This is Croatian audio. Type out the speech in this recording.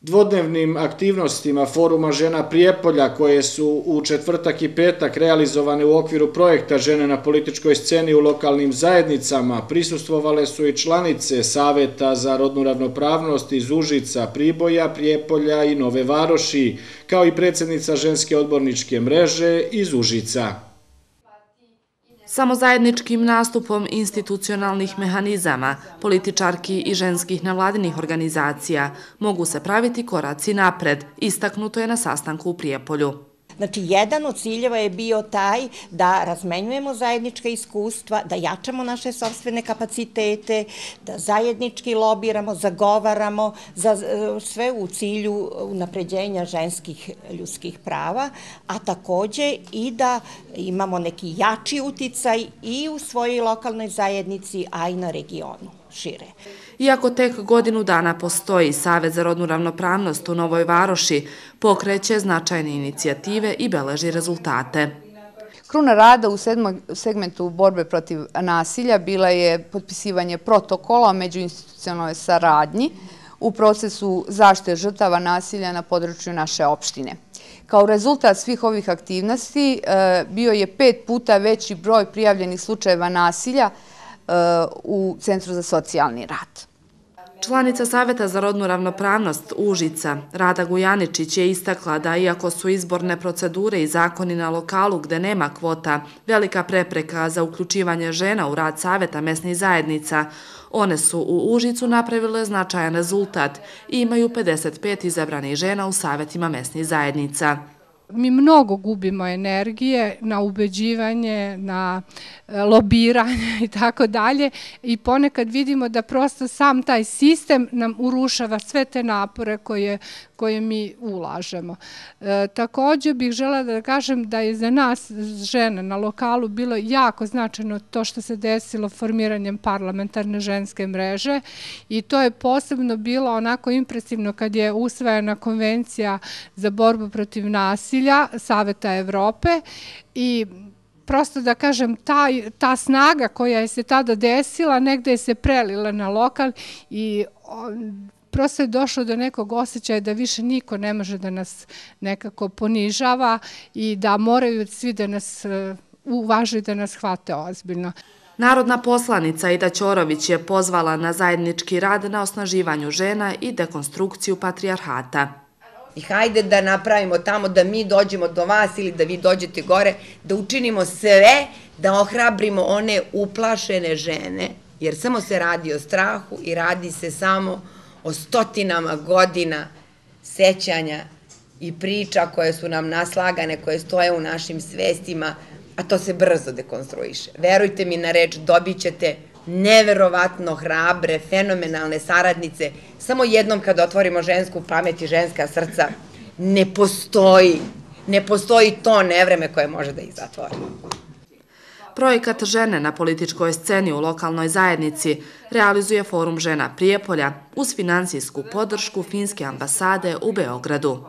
Dvodnevnim aktivnostima Foruma žena Prijepolja, koje su u četvrtak i petak realizovane u okviru projekta Žene na političkoj sceni u lokalnim zajednicama, prisustvovale su i članice Saveta za rodnu ravnopravnost iz Užica, Priboja, Prijepolja i Nove Varoši, kao i predsjednica ženske odborničke mreže iz Užica. Samo zajedničkim nastupom institucionalnih mehanizama, političarki i ženskih nevladinih organizacija mogu se praviti koraci napred, istaknuto je na sastanku u Prijepolju. Znači, jedan od ciljeva je bio taj da razmenjujemo zajednička iskustva, da jačamo naše sopstvene kapacitete, da zajednički lobiramo, zagovaramo za sve u cilju unapređenja ženskih ljudskih prava, a takođe i da imamo neki jači uticaj i u svojoj lokalnoj zajednici, a i na regionu šire. Iako tek godinu dana postoji Savet za rodnu ravnopravnost u Novoj Varoši, pokreće značajne inicijative i beleži rezultate. Kruna rada u segmentu borbe protiv nasilja bila je potpisivanje protokola o međuinstitucionalnoj saradnji u procesu zaštite žrtava nasilja na području naše opštine. Kao rezultat svih ovih aktivnosti bio je 5 puta veći broj prijavljenih slučajeva nasilja u Centru za socijalni rad. Članica Saveta za rodnu ravnopravnost Užica, Rada Gujaničić, je istakla da iako su izborne procedure i zakoni na lokalu gde nema kvota velika prepreka za uključivanje žena u rad Saveta mesnih zajednica, one su u Užicu napravile značajan rezultat i imaju 55 izabranih žena u Savetima mesnih zajednica. Mi mnogo gubimo energije na ubeđivanje, na lobiranje i tako dalje i ponekad vidimo da prosto sam taj sistem nam urušava sve te napore koje mi ulažemo. Također bih želela da kažem da je za nas žene na lokalu bilo jako značajno to što se desilo formiranjem parlamentarne ženske mreže i to je posebno bilo onako impresivno kad je usvojena konvencija za borbu protiv nasilja Saveta Evrope i prosto da kažem, ta snaga koja je se tada desila, negde je se prelila na lokal i prosto je došlo do nekog osjećaja da više niko ne može da nas nekako ponižava i da moraju svi da nas uvažaju, da nas hvate ozbiljno. Narodna poslanica Ida Ćorović je pozvala na zajednički rad na osnaživanju žena i dekonstrukciju patrijarhata. I hajde da napravimo tamo da mi dođemo do vas ili da vi dođete gore, da učinimo sve da ohrabrimo one uplašene žene, jer samo se radi o strahu i radi se samo o stotinama godina sećanja i priča koje su nam naslagane, koje stoje u našim svestima, a to se brzo dekonstruiše. Verujte mi na reč, dobit ćete neverovatno hrabre, fenomenalne saradnice. Samo jednom kad otvorimo žensku pamet i ženska srca, ne postoji to nevreme koje može da ih zatvori. Projekat Žene na političkoj sceni u lokalnoj zajednici realizuje Forum žena Prijepolja uz finansijsku podršku Finske ambasade u Beogradu.